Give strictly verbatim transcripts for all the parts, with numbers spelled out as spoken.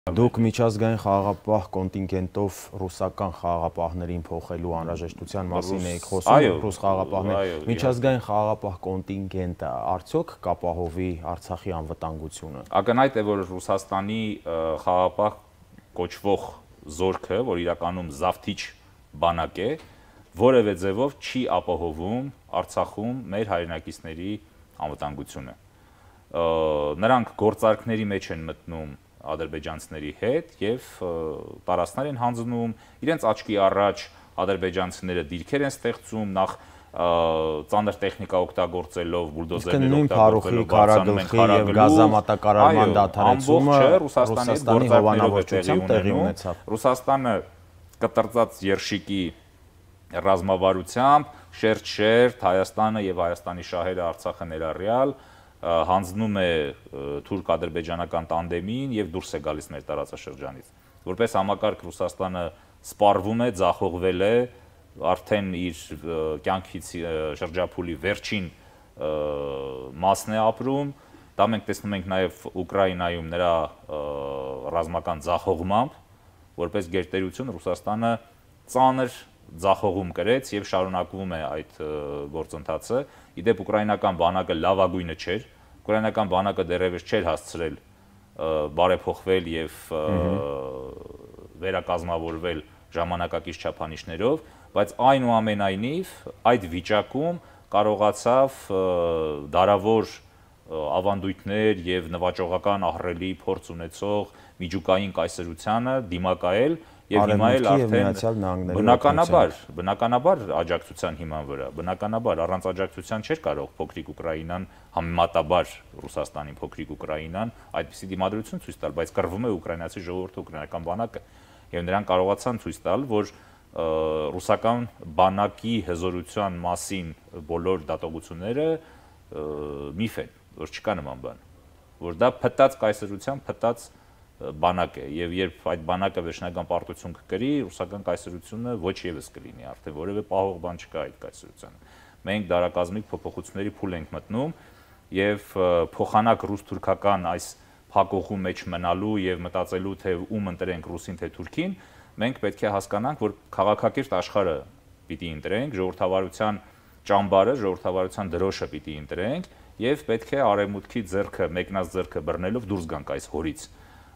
Դուք միջազգային խաղաղապահ կոնտինգենտով ռուսական խաղաղապահներին փոխելու անհրաժեշտության մասին եք խոսում, ռուս խաղաղապահներ։ Միջազգային խաղաղապահ կոնտինգենտը արդյոք կապահովի Արցախի անվտանգությունը։ Ակնհայտ է, որ Ռուսաստանի խաղաղապահ կոչվող զորքը, որ իրականում զավթիչ բանակ է, որևէ ձևով չի ապահովում Արցախում մեր հայրենակիցների անվտանգությունը։ Նրանք գործարքների մեջ են մտնում ադրբեջանցիների հետ եւ տարածքներ են հանձնում, իրենց աչքի առաջ ադրբեջանցիները դիրքեր են ստեղծում, նախ ծանր տեխնիկա օգտագործելով, բուլդոզերներ օգտագործելով, քարագլխի եւ գազամատակարարման դադարեցումը Ռուսաստանի հովանավորությամբ տեղի ունեցավ։ Ռուսաստանը կտրծած երշիկի ռազմավարությամբ շերտ-շերտ Հայաստանը եւ Հայաստանի շահերը Արցախը ներառյալ հանձնում է թուրք-ադրբեջանական տանդեմին եւ դուրս է գալիս մեր տարածաշրջանից։ Որպես համակարգ Ռուսաստանը սպառվում է, ձախողվել է, արդեն իր կյանքից շրջափուլի վերջին մասն է ապրում։ Դա մենք տեսնում ենք նաեւ Ուկրաինայում նրա ռազմական ձախողմամբ, որպես գերտերություն Ռուսաստանը ծանր ձախողում կրեց եւ շարունակվում է այդ գործընթացը։ Իդեպ ուկրաինական բանակը լավագույնը չէր, ուկրաինական բանակը դեռևս չէր հասցրել բարեփոխվել եւ վերակազմավորվել ժամանակակից չափանիշներով, բայց այնուամենայնիվ այդ վիճակում կարողացավ դարավոր ավանդույթներ եւ նվաճողական ահռելի փորձ ունեցող միջուկային կայսրությանը դիմակայել եւ հիմա էլ արդեն բնականաբար, բնականաբար աջակցության հիման վրա, բնականաբար առանց աջակցության չէր կարող փոքրիկ Ուկրաինան համեմատաբար Ռուսաստանին փոքրիկ Ուկրաինան այդպիսի դիմադրություն ցույց տալ, բայց կռվում է ուկրաինացի ժողովուրդը, ուկրաինական բանակը եւ նրանք կարողացան ցույց տալ, որ ռուսական բանակի հզորության մասին բոլոր դատողությունները միֆ են, որ չկա նման բան, որ դա փտած կայսրության փտած բանակ է եւ երբ այդ բանակը վերջնական պարտություն կկրի, ռուսական կայսրությունը ոչ եւս կլինի, արդեն որևէ պահող բան չկա այդ կայսրությանը։ Մենք դարակազմիկ փոփոխությունների փուլ ենք մտնում եւ փոխանակ ռուս-թուրքական այս փակողու մեջ մնալու եւ մտածելու թե ում ընտրենք ռուսին թե թուրքին, մենք պետք է հասկանանք, որ քաղաքակիրթ աշխարհը պիտի ընտրենք, ժողովրդավարության ճամբարը, ժողովրդավարության դրոշը պիտի ընտրենք եւ պետք է արևմուտքի ձեռքը, մեկնած ձեռքը բռնելով դուրս գանք այս հորից։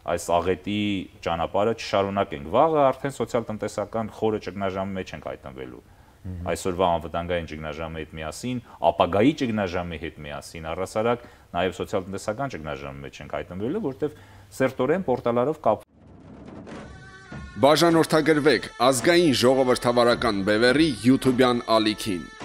Այս աղետի ճանապարհը չշարունակենք։ Վաղը արդեն սոցիալ-տնտեսական խորը ճգնաժամի մեջ ենք հայտնվելու։ Այսօրվա անվտանգային ճգնաժամի հետ միասին, ապագայի ճգնաժամի հետ միասին, առհասարակ նաև սոցիալ-տնտեսական ճգնաժամի մեջ ենք հայտնվելու, որտեղ սերտորեն պորտալարով կապ Բաժանորդագրվեք ազգային ժողովրդավարական բևեռի YouTube-յան ալիքին։